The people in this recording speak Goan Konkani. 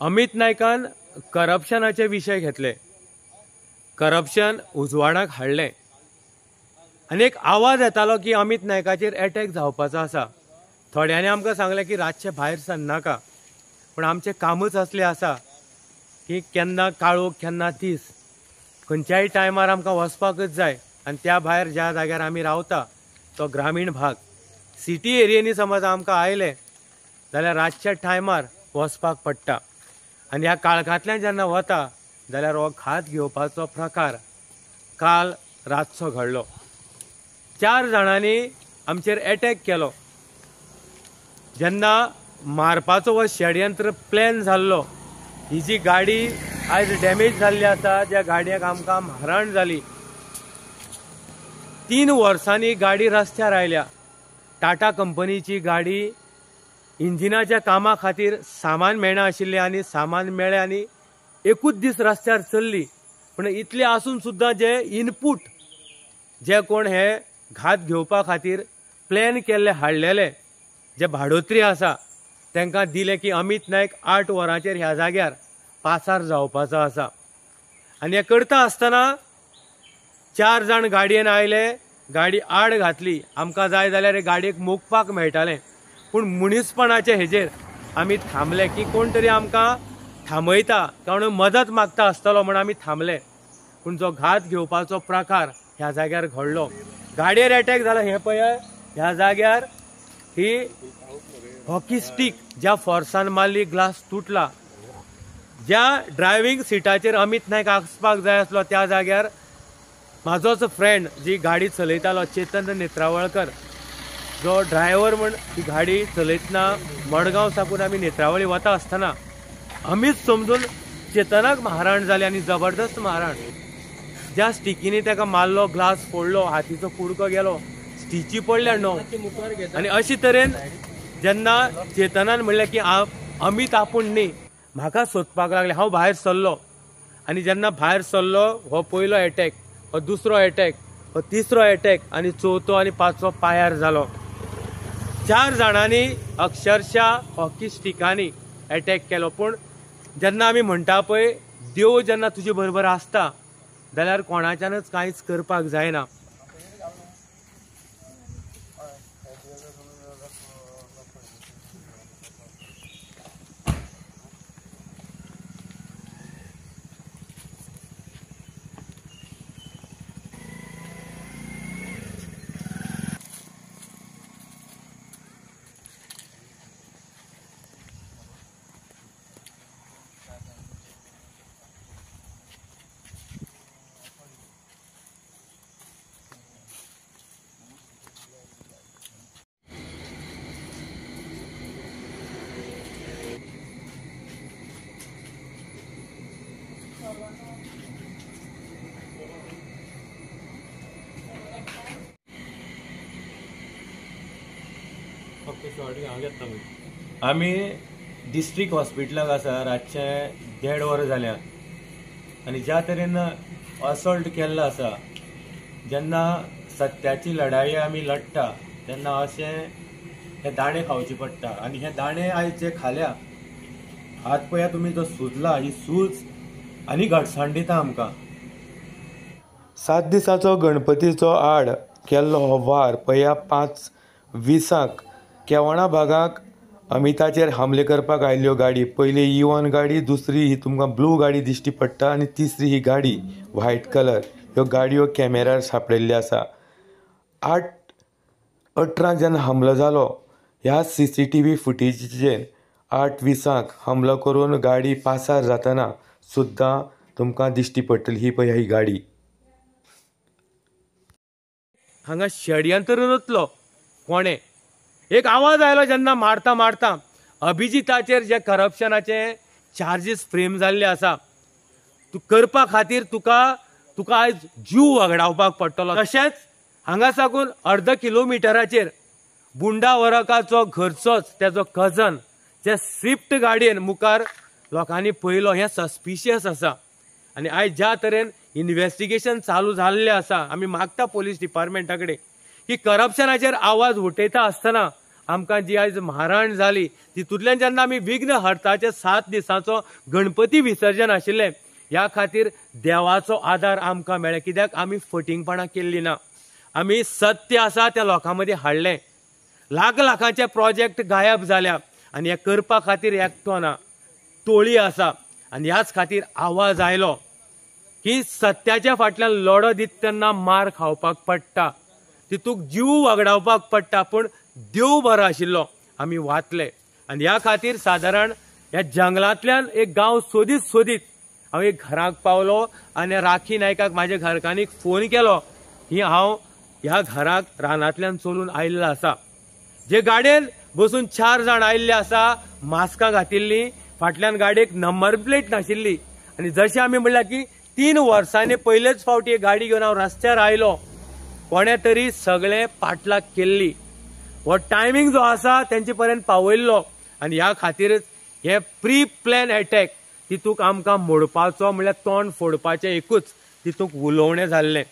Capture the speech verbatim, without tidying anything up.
अमित नायकान करप्शनाचे विशय घेतले, करप्शन उजवाडाक हाडलें आनी एक आवाज येतालो की अमित नायकाचेर एटॅक जावपाचो आसा। थोड्यांनी आमकां सांगलें की रातचें भायर सरनाका, पूण आमचें कामूच असलें आसा की केन्ना काळोख केन्ना दीस, खंयच्याय टायमार आमकां वचपाकच जाय। आनी त्या भायर ज्या जाग्यार आमी रावता तो ग्रामीण भाग, सिटी एरियेनी समज आमकां आयले जाल्यार रातच्या टायमार वचपाक पडटा आनी ह्या काळखांतल्यान जेन्ना वता जाल्यार हो घात घेवपाचो प्रकार काल रातचो घडलो। चार जाणांनी आमचेर एटॅक केलो। जेन्ना मारपाचो हो षडयंत्र प्लॅन जाल्लो, ही जी गाडी आयज डॅमेज जाल्ली आसा ज्या गाडयेक आमकां मारहाण जाली, तीन वर्सांनी गाडी रस्त्यार आयल्या। टाटा कंपनीची गाडी इंजिनाच्या कामा खातीर सामान मेळना आशिल्लें आनी सामान मेळ्ळें आनी एकूच दीस रस्त्यार चल्ली। पूण इतलें आसून सुद्दां जे इनपूट जे कोण हे घात घेवपा खातीर प्लॅन केल्ले हाडलेले जे भाडोत्री आसा तांकां दिलें की अमित नायक आठ वरांचेर ह्या जाग्यार पासार जावपाचो आसा। आनी हें करता आसतना चार जाण गाडयेन आयले, गाडी आड घातली। आमकां जाय जाल्यार गाडयेक मोखपाक मेळटालें, पूण मनीसपणाचे हेजेर आमी थांबले की कोण तरी आमकां थांबयता, कारण मदत मागता आसतलो म्हण आमी थांबले। पूण जो घात घेवपाचो प्रकार ह्या जाग्यार घडलो, गाडयेर एटॅक जाला। हें पळय ह्या जाग्यार ही हॉकी स्टीक ज्या फोर्सान मारली, ग्लास तुटला। ज्या ड्रायव्हींग सिटाचेर अमित नायक आसपाक जाय आसलो त्या जाग्यार म्हाजोच फ्रेंड जी गाडी चलयतालो चेतन नेत्रावळकर, जो ड्रायव्हर म्हण ही गाडी चलयतना मडगांव साकून आमी नेत्रावळी वता आसतना अमीत समजून चेतनाक मारहाण जाली आनी जबरदस्त मारहाण। ज्या स्टिकीनी ताका मारलो, ग्लास फोडलो, हातीचो कुडको गेलो, स्टिची पडल्या णव। आनी अशे तरेन जेन्ना चेतनान म्हणलें की अमित आपूण न्ही, म्हाका सोदपाक लागले, हांव भायर सरलो। आनी जेन्ना भायर सरलो हो पयलो एटॅक, हो दुसरो एटॅक, हो तिसरो एटॅक आनी चवथो आनी पांचवो पांयार जालो। चार जाणांनी अक्षरशा हॉकी स्टिकांनी एटॅक केलो। पूण जेन्ना आमी म्हणटा पळय, देव जेन्ना तुजे बरोबर आसता जाल्यार कोणाच्यानच कांयच करपाक जायना। आमी डिस्ट्रिक्ट हॉस्पिटलाक आसा, रातचे देड वर जाल्या आनी ज्या तरेन असॉल्ट केल्लो आसा, जेन्ना सत्याची लढाई आमी लढटा तेन्ना अशें हे दाणे खावचे पडटा। आनी हे दाणे आयज जे खाल्या, हात पळया तुमी जो सुजला, ही सूज आनी घटसाण दिता आमकां। सात दिसाचो गणपतीचो आड केल्लो हो वार पळया पांच विसांक केवणा भागाक अमिताचेर हमले करपाक आयिल्ल्यो गाडी, पयली इवन गाडी, दुसरी ही तुमकां ब्लू गाडी दिश्टी पडटा आनी तिसरी ही गाडी व्हायट कलर, ह्यो गाडयो कॅमेरार सांपडिल्ल्यो आसा। आठ अठरांक जेन्ना हमलो जालो ह्या सी सी टी व्ही फुटेजीचेर आठ विसांक हमलो करून गाडी पासार जातना सुद्दां तुमकां दिश्टी पडटली ही पळय ही गाडी। हांगा षडयंत्र रचलो कोणें, एक आवाज आयलो जेन्ना मारता मारता अभिजिताचेर जे करप्शनाचे चार्जीस फ्रेम जाल्ले आसा, तूं करपा खातीर तुका तुका आयज जीव वगडावपाक पडटलो। तशेंच हांगा साकून अर्द किलोमिटराचेर बुंडा वरकाचो घरचोच तेजो कजन जे स्विफ्ट गाडयेन मुखार लोकांनी पळयलो, हें सस्पिशियस आसा। आनी आयज ज्या तरेन इन्वेस्टिगेशन चालू जाल्लें आसा, आमी मागता पोलीस डिपार्टमेंटा कडेन की करप्शनाचेर आवाज उठयता आसतना आमकां जी आयज मारहाण जाली तितूंतल्यान जेन्ना आमी विघ्न हरताचे सात दिसांचो गणपती विसर्जन आशिल्लें, ह्या खातीर देवाचो आदार आमकां मेळ्ळो. कित्याक आमी फटींगपणां केल्ली ना, आमी सत्य आसा त्या लोकां मदीं हाडलें. लाख लाखांचे प्रोजेक्ट गायब जाल्या आनी हे करपा खातीर एकटो ना, टोळी आसा. आनी ह्याच खातीर आवाज आयलो की सत्याच्या फाटल्यान लढो दिता तेन्ना मार खावपाक पडटा, तितूक जीव वगडावपाक पडटा, पूण देव बरो आशिल्लो, आमी वाचले. आनी ह्या खातीर सादारण ह्या जंगलांतल्यान एक गांव सोदीत सोदीत हांव एक घराक पावलो आनी राखी नायकाक म्हाज्या घरकान्नीक फोन केलो की हांव ह्या घराक रानांतल्यान चलून आयिल्लो आसा. जे गाडयेन बसून चार जाण आयिल्ले आसा, मास्कां घातिल्लीं, फाटल्यान गाडयेक नंबर प्लेट नाशिल्ली. आनी जशें आमी म्हणल्यार की तीन वर्सांनी पयलेच फावटी एक गाडी घेवन हांव रस्त्यार आयलो, कोणे तरी सगळें पाटलाग केल्ली. हो टायमींग जो आसा तेंचे पर्यंत पावयल्लो आनी ह्या खातीरच हे प्री प्लॅन एटॅक तितूक आमकां मोडपाचो म्हणल्यार तोंड फोडपाचें एकूच तितूक उलोवणें जाल्लें.